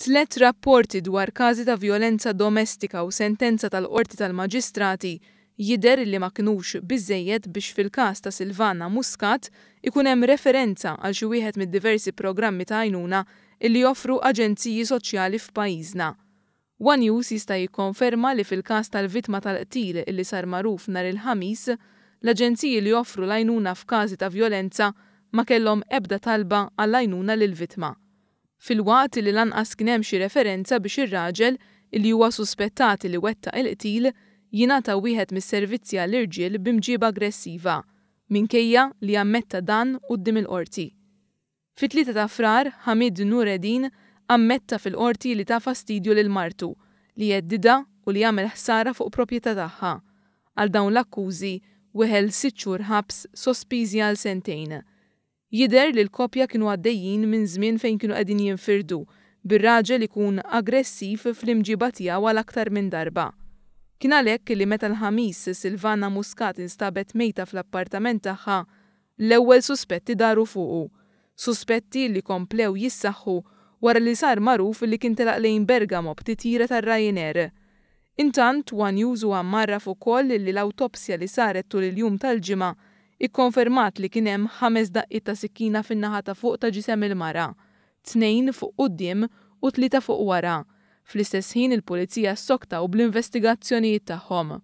Tlett rapporti dwar każi ta' vjolenza domestika u sentenza tal-Qorti tal-Maġistrati jidher illi ma kinux biżżejjed biex fil-każ ta' Silvana Muscat ikun hemm referenza għal xi wieħed mid-diversi programmi ta' għajnuna illi joffru aġenziji soċjali f'pajjiżna. One News jista' jikkonferma li fil-każ tal-vittma tal-qtil illi sar magħruf nhar il-Ħamis, l-aġenziji li joffru l-għajnuna f'każi ta' vjolenza ma kellhom ebda talba għall-għajnuna lill-vittma. Filwaqt illi lanqas kien hemm xi referenza biex ir-raġel, illi huwa suspettat li wettaq il-qtil, jingħata wieħed mis-servizzi għall-irġiel b'imġieba aggressiva, minkejja li ammetta dan quddiem il-Qorti. Fit-3 ta' Frar, Hamid Noureddine ammetta fil-Qorti li ta fastidju lil martu, li heddidha u li għamel ħsara fuq proprjetà tagħha. Għal dawn l-akkużi, weħel sitt xhur ħabs sospiżi għal sentejn. Jidher li l-koppja kienu għaddejjin minn żmien fejn kienu qegħdin jinfirdu, bir-raġel ikun aggressiv fl-imġiba tiegħu għal aktar minn darba. Kien għalhekk li meta l-Ħamis Silvana Muscat instabet mejta fl-appartament tagħha, l-ewwel suspetti daru fuqu. Suspetti li komplew jissaħħu wara li sar magħruf li kien telaq lejn Bergamo b'titjira tar-Ryanair. Intant, one News huwa mgħarraf ukoll li l-awtopsja li saret tul il-jum tal-Ġimgħa ikkonfermat li kien hemm ħames daqqiet ta' sikkina fin-naħa ta' fuq ta' ġisem il-mara, tnejn fuq quddiem u tlieta fuq wara. Fl-istess ħin il-Pulizija ssoktaw bl-investigazzjonijiet tagħhom.